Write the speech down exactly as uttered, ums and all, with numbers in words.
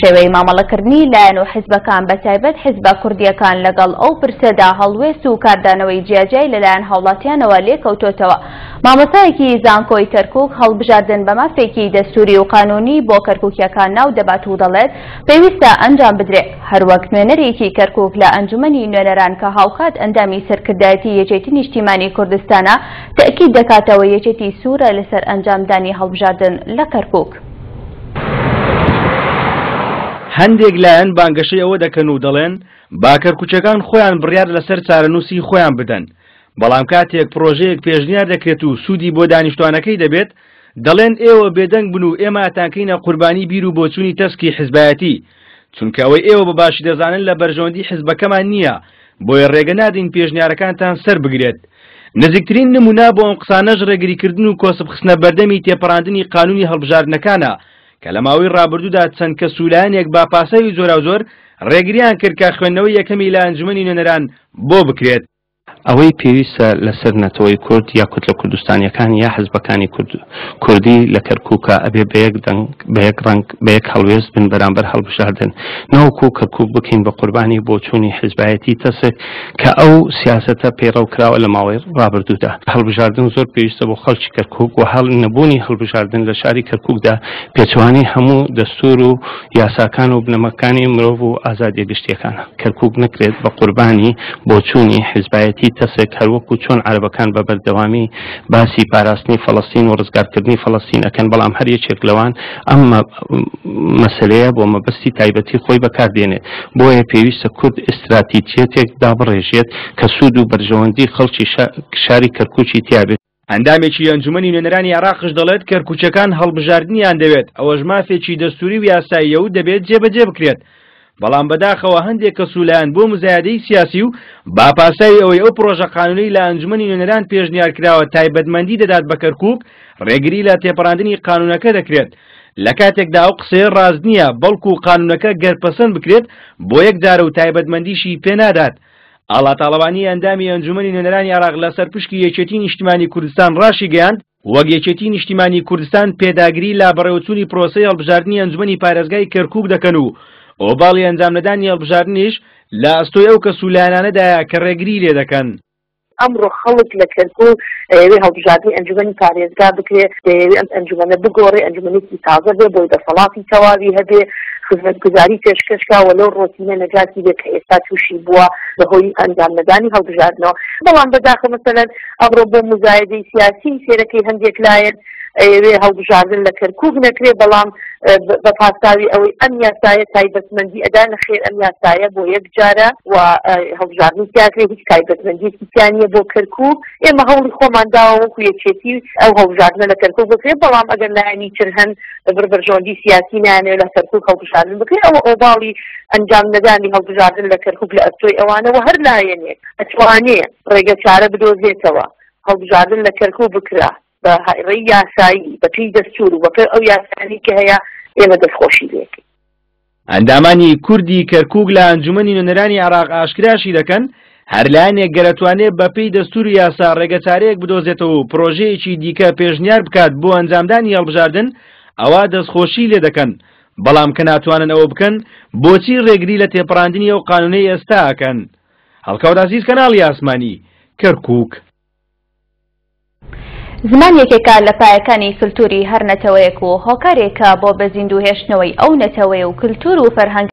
شێوەی مامەڵەکردنی لایەن و حیزبەکان بە تایبەت حیزبە کوردیەکان لەگەڵ ئەو پرسەدا هەڵوێست و کاردانەوەی جیاجیای لەلایەن هاوڵاتیانەوە لێکەوتۆتەوە. مامۆستایەکی زانکۆی کەرکوک هەڵبژاردن بە مافێکی دەستوری و قانونی بۆ کەرکوکیەکان ناو دەبات و دەڵێت پێویستە ئەنجام بدرێ. هەروەک نوێنەرێکی کەرکوک لە ئەنجومەنی نوێنەران کە هاوکات ئەندامی سەرکردایەتی یەکێتی نیشتیمانی کوردستانە تەئکید دەکاتەوە یەکێتی سوورە لەسەر ئەنجامدانی هەڵبژاردن لە کەرکوک. هەندێک لایەن بانگەشەی ئەوە دەکەن و دەڵێن با کەرکوچەکان خۆیان بڕیار لەسەر چارەنووسی خۆیان بدەن، بەڵام کاتێک پرۆژەیەک پێشنیار دەکرێت و سوودی بۆ دانیشتوانەکەی دەبێت دەڵێن ئێوە بێدەنگ بن و ئێمە ئەتانکەینە قوربانی بیر و بۆچوونی تەسکی حیزبایەتی، چونکە ئەوەی ئێوە بە باشی دەزانن لە بەرژەوەندی حیزبەکەمان نییە، بۆیە ڕێگە نادەین پێشنیارەکانتان سەر بگرێت. نزیکترین نمونە بۆ ئەم قسانەش ڕێگریکردن و کۆسپ خستنە بەردەمی تێپەڕاندنی قانونی هەڵبژاردنەکانە کە لە ماوەی ڕابردوودا چەند کەس و لایەنێک با پاساوی جۆراوجۆر ڕێگریان کرد کە خوێندنەوەی یەکەمی لە ئەنجومەنی نوێنەران بۆ بکرێت. ئەوەی پێویستە لەسەر نەتەوەی کورد یا کوتلە کوردستانیەکان یا حزبەکانی کوردی لە کەرکووکە ئەبێ بە یەک دەنگ، بە یەک ڕەنگ، بە یەک هەڵوێست بن بەرامبەر هەڵبژاردن، نەوەکو کەرکووک بکەین بە قوربانی بۆچوونی حزبایەتی تەسک کە ئەو سیاسەتە پەیڕەو کراوە لە ماوەی ڕابردوودا. هەڵبژاردن زۆر پێویستە بۆ خەڵکی کەرکووک و هەڵ نەبوونی هەڵبژاردن لە شاری کەرکووکدا پێچوانی هەموو دەستور و یاساکان و بنەماکانی مرۆڤ و ئازادیە گشتیەکانە. کەرکووک نەکرێت بە قوربانی بۆچوونی حزبایەتی تەسێک، هەروەکو چۆن عەرەبەکان بە بەردەوامی باسی پاراستنی فەڵەستین و ڕزگارکردنی فەڵەستین ئەکەن، بەڵام هەر یەکێک لەوان ئەم مەسەلەیە بۆ مەبەستی تایبەتی خۆی بەکاردێنێت. بۆیە پێویستە کورد ئیستراتیجیەتێک دابڕێژێت کە سوود و بەرژەوەندی خەڵکی شاری کەرکوکی تیابێت. ئەندامێکی ئەنجومەنی نوێنەرانی عێراقش دەڵێت کەرکوچەکان هەڵبژاردنیان دەوێت، ئەوەش مافێکی دەستوری و یاساییە و دەبێت جێبەجێ بکرێت. بەڵام بەداخەوە هەندێک کەس و لایەن بۆ مزایدەی سیاسی و با پاساوی ئەوەی ئەو پرۆژە قانونەی لە ئەنجومەنی نوێنەران پێشنیار کراوە تایبەتمەندی دەدات بە کەرکوک، ڕێگری لە تێپەڕاندنی قانونەکە دەکرێت. لە کاتێکدا ئەو قسەیە ڕاست نییە، بەڵکو قانونەکە گەر پەسەند بکرێت بۆ یەک جارە و تایبەتمەندیشی پێنادات. ئاڵا تاڵەبانی ئەندامی ئەنجومەنی نوێنەرانی عێراق لەسەر پشکی یەکێتی نیشتیمانی کوردستان ڕاشیگەیاند وەک یەکێتی نیشتیمانی کوردستان پێداگری لە بەڕێوەچوونی پرۆسەی هەڵبژاردنی ئەنجومەنی پارێزگای کەرکوک دەکەن و ئۆباڵی ئەنجامنەدانی هەڵبژاردنیش لە ئەستۆی ئەو کەس و لایەنانەدایە کە ڕێگری لێ دەکەن. ئەمڕۆ خەڵک لە کەرکوک ئەیەوێ هەڵبژاردنی ئەنجومەنی پارێزگا بکرێ، دەیەوێ ئەم ئەنجومەنە بگۆڕێ، ئەنجومەنێکی تازە بێ، بۆی دەسەڵاتی تەواوی هەبێ، خزمەتگوزاری پێشکەشکا و لەو ڕۆتینە نەجاتی بێ کە ئێستا تووشی بووە بەهۆی ئەنجامنەدانی هەڵبژاردنەوە. بەڵام بەداخەوە مەسەلەن ئەمڕۆ بۆ مزایدەی سیاسی سێرەکەی هەندێک لایەن ئەیەوێ هەڵبژاردن لە کەرکوک نەکرێ، بەڵام بە پاساوی ئەوەی ئەم یاسایە تایبەتمەندی ئەدا، نەخێر ئەم یاسایە بۆ یەک جارە و هەڵبژاردنی تیاکرێ، هیچ تایبەتمەندیەکی تیا نییە بۆ کەرکوک. ئێمە هەوڵی خۆمان داوە وەکو یەکێتی ئەو هەڵبژاردنە لە کەرکوک بکرێت، بەڵام ئەگەر لایەنی تر هەن بەبڕ بەرژەوەندی سیاسی نایانەوێت لە کەرکوک هەڵبژاردن بکرێت، ئەوە ئۆباڵی ئەنجام نەدانی هەڵبژاردن لە کەرکوک لە ئەستۆی ئەوانەوە. هەر لایەنێک ئەتوانێ ڕێگە چارە بدۆزێتەوە هەڵبژاردن لە کەرکوک بکرا بە ڕێی یاسایی، بە پێی دەستور و بە پێی ئەو یاسایانەی کە هەیە، ئێمە دەستخۆشی لێکەین. ئەندامانی کوردی کەرکوک لە ئەنجومەنی نوێنەرانی عێراق ئاشکراشی دەکەن هەر لایەنێک گەرەتوانێت بە پێی دەستور و یاسا ڕێگەچارەیەک بدۆزێتەوە و پرۆژەیەکی دیکە پێشنیار بکات بۆ ئەنجامدانی هەڵبژاردن، ئەوە دەستخۆشی لێ دەکەن. بەڵام کە ناتوانن ئەوە بکەن، بۆچی ڕێگری لە تێپەڕاندنی ئەو قانونەی ئێستا ئەکەن؟ هەڵکەوت عەزیز، کەناڵی ئاسمانی، کەرکوک. زمان یەکێکە لە پایەکانی کلتوری هەر نەتەوەیەک و هۆکارێکە بۆ بە زیندوو هێشتنەوەی ئەو نەتەوەیە و کلتور و فەرهەنگ.